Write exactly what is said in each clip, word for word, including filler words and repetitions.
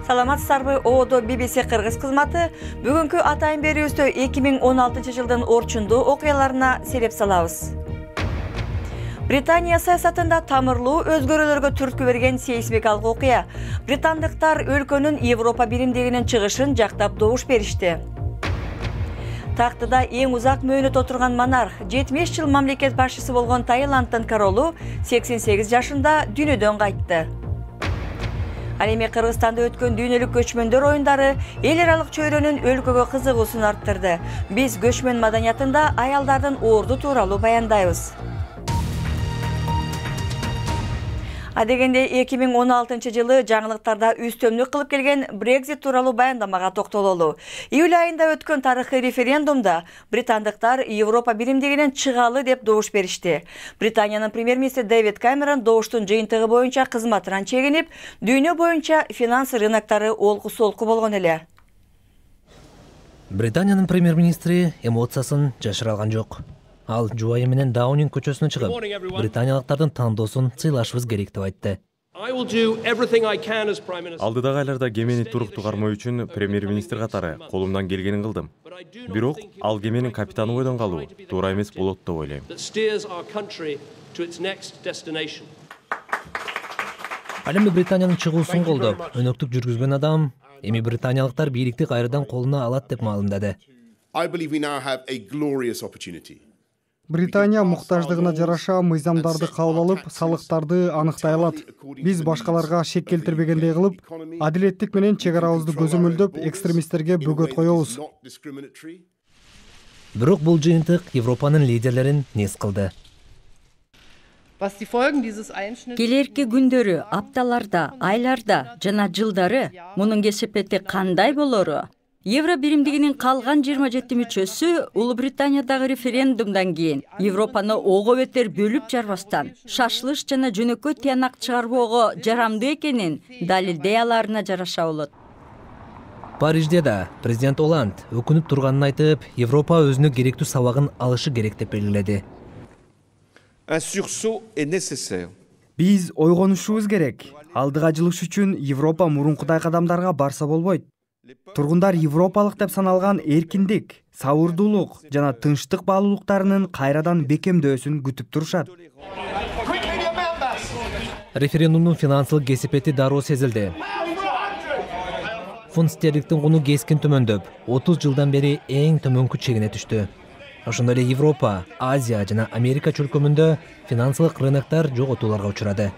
Саламатсыздарбы, Одо би би си Кыргыз кызматы бүгүнкү атайын берүүбүздө эки миң он алтынчы жылдын орчундуу окуяларына селеп салабыз. Британия саясатында тамырлуу өзгөрүүлөргө түрткү берген сейсмикалык окуя. Британдыктар өлкөнүн Европа биримдигинин чыгышын жактап добуш беришти. Тактыда эң узак мөөнөт отурган монарх, жетимиш жыл мамлекет башчысы болгон Таиланддын королу сексен сегиз жашында дүйнөдөн кайтты. Ал эми Кыргызстанда өткөн дүйнөлүк көчмөндөр оюндары эл аралык чөйрөнүн өлкөгө кызыгуусун арттырды. Биз көчмөн маданиятында аялдардын орду тууралуу баяндайбыз. Адегенде эки миң он алтынчы жылы жаңылыктарда үстөмдүк кылып келген Brexit тууралуу баяндамага токтололу. Июль айында өткөн тарыхый референдумда британдыктар Европа биримдигинен чыгалы деп добуш беришти. Британиянын премьер-министри Дэвид Камерон добуштун жыйынтыгы боюнча кызматынан чегинип, дүйнө боюнча финанс рыноктары олку-солку болгон эле. Британиянын премьер-министри эмоциясын жашыра алган жок. Ал жубайы менен Даунинг көчөсүнө чыгып, британиялыктардын тандоосун сыйлашыбыз керек деп айтты. Алдыдагы айларда кемени туруктуу кармоо үчүн премьер-министр катары колумдан келгенин кылдым. Бирок ал кеменин капитаны бойдон калуу туура эмес болот деп ойлойм. Ал эми Британиянын чыгуусун колдоп, өнөктүк жүргүзгөн адам эми британиялыктар бийликти кайрадан колуна алат деп маалымдады. Британия муктаждыгына жараша мыйзамдарды кабыл алып, салыктарды аныктай алат. Биз башкаларга шек келтирбегендей кылып, адилеттик менен чек арабызды көзөмөлдөп, экстремисттерге бөгөт коебуз. Бирок бул жыйынтык Европанын лидерлерин нес кылды. Келерки күндөрү, апталарда, айларда жана жылдары мунун кесепети кандай болору? Евро биримдигинин калган жыйырма жети мүчөсү Улуу Британиядагы референдумдан кийин Европаны ого бетер бөлүп жарбастан, шашылыш жана жөнөкөй тыянак чыгарбоого жарамдуу экенин далилдей аларына жараша болот. Парижде да президент Оланд өкүнүп турганын айтып, Европа өзүнө керектүү сабагын алышы керек деп белгиледи. Биз ойгонушубуз керек. Алдыга жылыш үчүн Европа мурункудай кадамдарга барса болбойт. Тургундар европалык деп саналган эркиндик, сабырдуулук жана тынчтык баалуулуктарынын кайрадан бекемдөөсүн күтүп турушат. Референдумдун финансылык кесепети дароо сезилди. Фунт стерлингдин куну кескин төмөндөп, отуз жылдан бери эң төмөнкү чегине түштү. Ошондой эле Европа, Азия жана Америка чөлкөмүндө финансылык рыноктор жоготууларга учурады.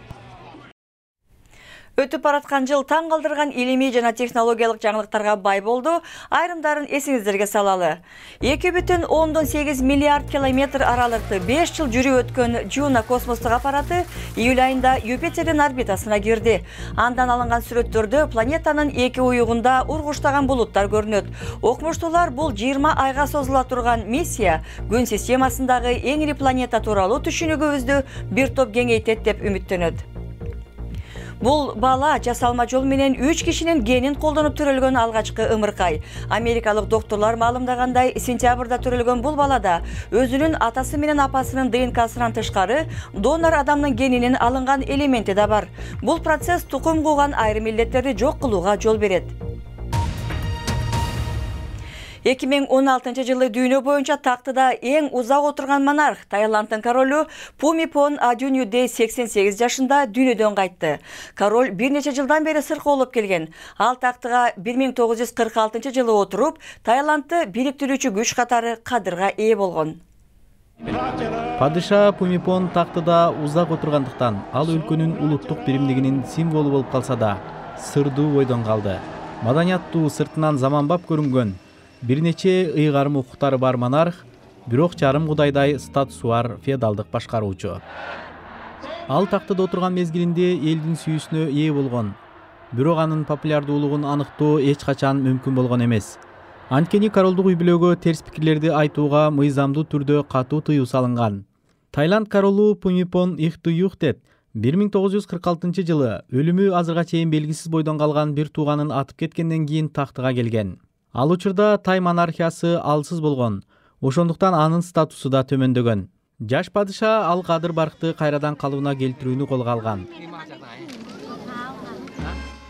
Өтүп бараткан жыл таң калтырган илимий жана технологиялык жаңылыктарга бай болду. Айрымдарын эсиңиздерге салалы. эки бүтүн ондон сегиз миллиард километр аралыкты беш жыл жүрүп өткөн Жуна космостук аппараты июль айында Юпитердин орбитасына кирди. Андан алынган сүрөттөрдө планетанын эки уюгунда ургуштаган булуттар көрүнөт. Окумуштуулар бул жыйырма айга созула турган миссия Күн системасындагы эң ири планета тууралуу түшүнүгүбүздү бир топ кеңейтет деп үмүттөнөт. Бул бала жасалма жол менен үч кишинин генин колдонуп төрөлгөн алгачкы ымыркай. Америкалык доктурлар маалымдагандай, сентябрда төрөлгөн бул балада өзүнүн атасы менен апасынын ДНКсынан тышкары донор адамдын генинин алынган элементи да бар. Бул процесс тукум кууган айрым илдеттерди жок кылууга жол берет. эки миң он алтынчы жылы дүйнө боюнча тактыда эң узак отурган монарх Таиланддын королу Пумипон Адуньюдей сексен сегиз жашында дүйнөдөн кайтты. Король бир нече жылдан бери сыркоолоп келген. Ал тактыга бир миң тогуз жүз кырк алтынчы жылы отуруп, Таиландды бириктирүүчү күч катары кадырга ээ болгон. Падыша Пумипон тактыда узак отургандыктан ал өлкөнүн улуттук биримдигинин символу болуп калса да, сырдуу бойдон калды. Маданияттуу, сыртынан заманбап көрүнгөн, бир нече ыйгарым укуктары бар монарх, бирок жарым кудайдай статусу бар феодалдык башкаруучу. Ал тактыда отурган мезгилинде элдин сүйүүсүнө ээ болгон. Бирок анын популярдуулугун аныктоо эч качан мүмкүн болгон эмес. Анткени королдук үй-бүлөгө терс пикирлерди айтууга мыйзамдуу түрдө катуу тыюу салынган. Таиланд королу Пумипон Ихтуюхтет бир миң тогуз жүз кырк алтынчы жылы өлүмү азырга чейин белгисиз бойдон калган бир тууганын атып кеткенден кийин тактыга келген. Ал учурда Тай монархиясы алсыз болгон, ошондуктан анын статусу да төмөндөгөн. Жаш падыша ал кадыр баркты кайрадан калыбына келтирүүнү колго алган.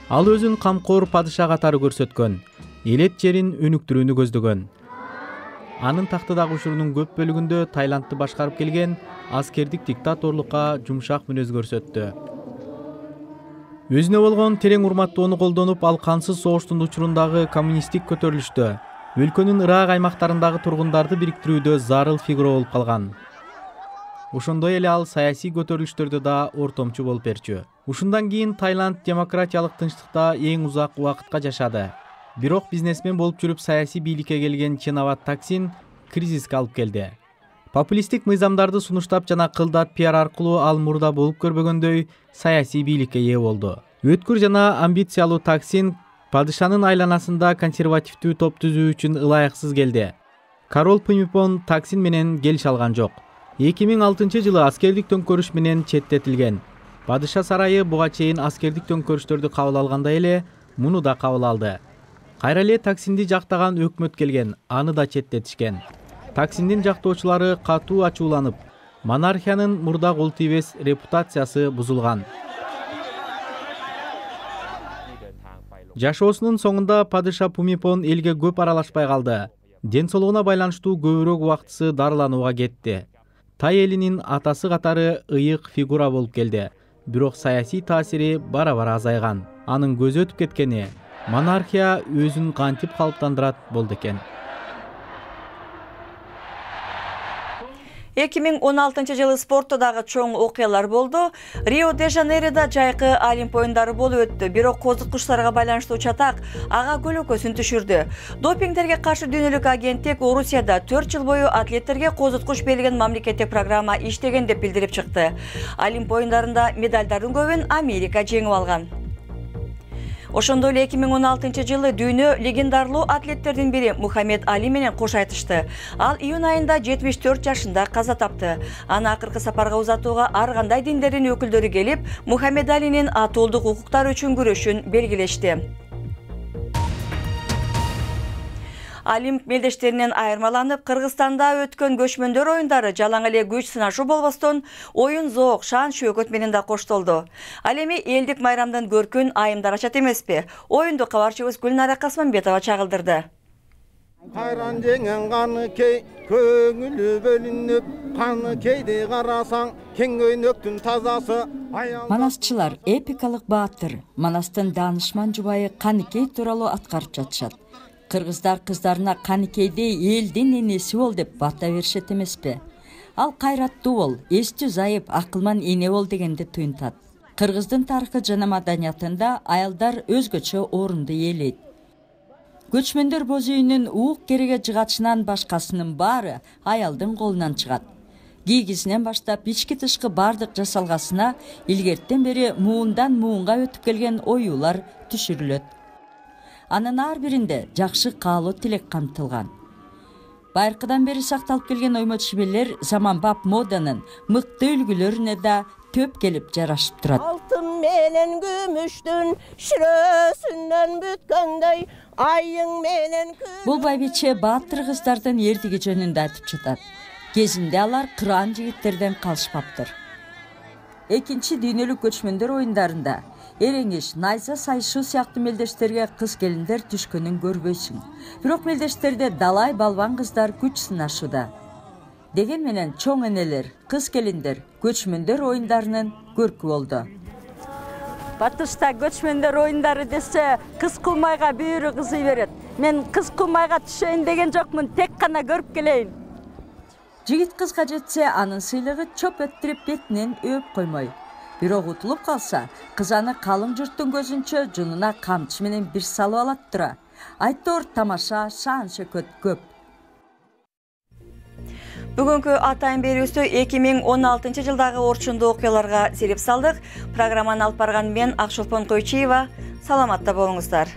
Ал өзүн камкор падыша катары көрсөткөн, элет жерин өнүктүрүүнү көздөгөн. Анын тактыдагы учурунун көп бөлүгүндө Таиландты башкарып келген аскердик диктаторлукка жумшак мүнөз көрсөттү. Өзүнө болгон терең урматтоону колдонуп, ал кансыз согуштун учурундагы коммунисттик көтөрүлүштө, өлкөнүн ырак аймактарындагы тургундарды бириктирүүдө зарыл фигура болуп калган. Ошондой эле ал саясий көтөрүлүштөрдө да ортомчу болуп берчү. Ушундан кийин Таиланд демократиялык тынчтыкта эң узак убакытка жашады. Бирок бизнесмен болуп жүрүп саясий бийликке келген Чинават Таксин кризиске алып келди. Популисттик мыйзамдарды сунуштап жана кылдат пиар аркылуу ал мурда болуп көрбөгөндөй саясий бийликке ээ болду. Өткүр жана амбициялуу Таксин падышанын айланасында консервативдүү топ түзүү үчүн ылайыксыз келди. Король Пумипон Таксин менен келише алган жок. эки миң алтынчы жылы аскердик төңкөрүш менен четтетилген. Падыша сарайы буга чейин аскердик төңкөрүштөрдү кабыл алгандай эле муну да кабыл алды. Кайра эле Таксинди жактаган өкмөт келген, аны да четтетишкен. Таксиндин жактоочулары катуу ачууланып, монархиянын мурда кол тийбес репутациясы бузулган. Жашоосунун соңунда падыша Пумипон элге көп аралашпай калды. Ден соолугуна байланыштуу көбүрөөк убактысы дарыланууга кетти. Тай элинин атасы катары ыйык фигура болуп келди. Бирок саясий таасири бара-бара азайган. Анын көзү өтүп кеткени монархия өзүн кантип калыптандырат болду экен. эки миң он алтынчы жылы спортто дагы чоң окуялар болду. Рио-де-Жанейрода жайкы Олимп оюндары болуп өттү. Бирок козуткучтарга байланыштуу чатак ага көлөкөсүн түшүрдү. Допингтерге каршы дүйнөлүк агенттик Орусияда төрт жыл бою атлеттерге козуткуч берилген мамлекеттик программа иштеген деп билдирип чыкты. Олимп оюндарында медалдардын көбүн Америка жеңип алган. Ошондой эле эки миң он алтынчы жылы дүйнө легендарлуу атлеттердин бири Мухаммед Али менен кош айтышты. Ал июнь айында жетимиш төрт жашында каза тапты. Аны акыркы сапарга узатууга ар кандай диндердин өкүлдөрү келип, Мухаммед Алинин атуулдук укуктары үчүн күрөшүн белгилешти. Олимп мелдештеринен айырмаланып, Кыргызстанда өткөн көчмөндөр оюндары жалаң эле күч сынашуу болбостон, оюн зоок, шан шөкөт менен да коштолду. Ал эми элдик майрамдын көркүн айымдар ачат эмеспи? Оюнду кабарчыбыз Гүлнара Касманбетова чагылдырды. Кайран жеңен каны кей, көңүлү бөлүнүп, каны кейди карасаң, кең көйнөктүн тазасы. Манасчылар эпикалык баатыр, Манастын даанышман жубайы Каныкей тууралуу аткарып жатышат. Кыргыздар кыздарына Каныкейдей элдин энеси бол деп бата беришет эмеспи? Ал кайраттуу бол, эстүү зайып, акылман эне бол дегенди туюнтат. Кыргыздын тарыхы жана маданиятында аялдар өзгөчө орунду ээлейт. Көчмөндөр боз үйүнүн уук кереге жыгачынан башкасынын баары аялдын колунан чыгат. Кийгизинен баштап ички тышкы бардык жасалгасына илгерттен бери муундан муунга өтүп келген оюулар түшүрүлөт. Анын ар биринде жакшы каалоо тилек камтылган. Байыркыдан бери сакталып келген оймо чеберлер заманбап моданын мыкты үлгүлөрүнө да төп келип жарашып турат. Алтын менен күмүштүн шүрөсүнөн бүткөндөй, айың менен күн. Бул байбиче баатыр кыздардын эрдиги жөнүндө айтып жатат. Кезинде алар кыраан жигиттерден калышпаптыр. Экинчи дүйнөлүк көчмөндөр оюндарында эреңиш, найза сайышуу сыяктуу мелдештерге кыз келиндер түшкөнүн көрбөйсүң. Бирок мелдештерде далай балбан кыздар күч сынашууда. Деген менен чоң энелер, кыз келиндер көчмөндөр оюндарынын көркү болду. Батышта көчмөндөр оюндары десе, кыз кулмайга бүйүрү кызый берет. Мен кыз кулмайга түшөйүн деген жокмун, тек гана көрүп келейин. Жигит кызга жетсе, анын сыйлыгы чоп өттүрүп бетинен өп коймой. Бирок утулуп калса, кыз аны калың журттун көзүнчө жунуна камчы менен бир салып алат тура. Айтор тамаша, шаан шөкөт көп. Бүгүнкү атайын берүүбүздө эки миң он алтынчы жылдагы орчундуу окуяларга сереп салдык. Программаны алып барган мен Акшолпон Койчиева. Саламатта болуңуздар.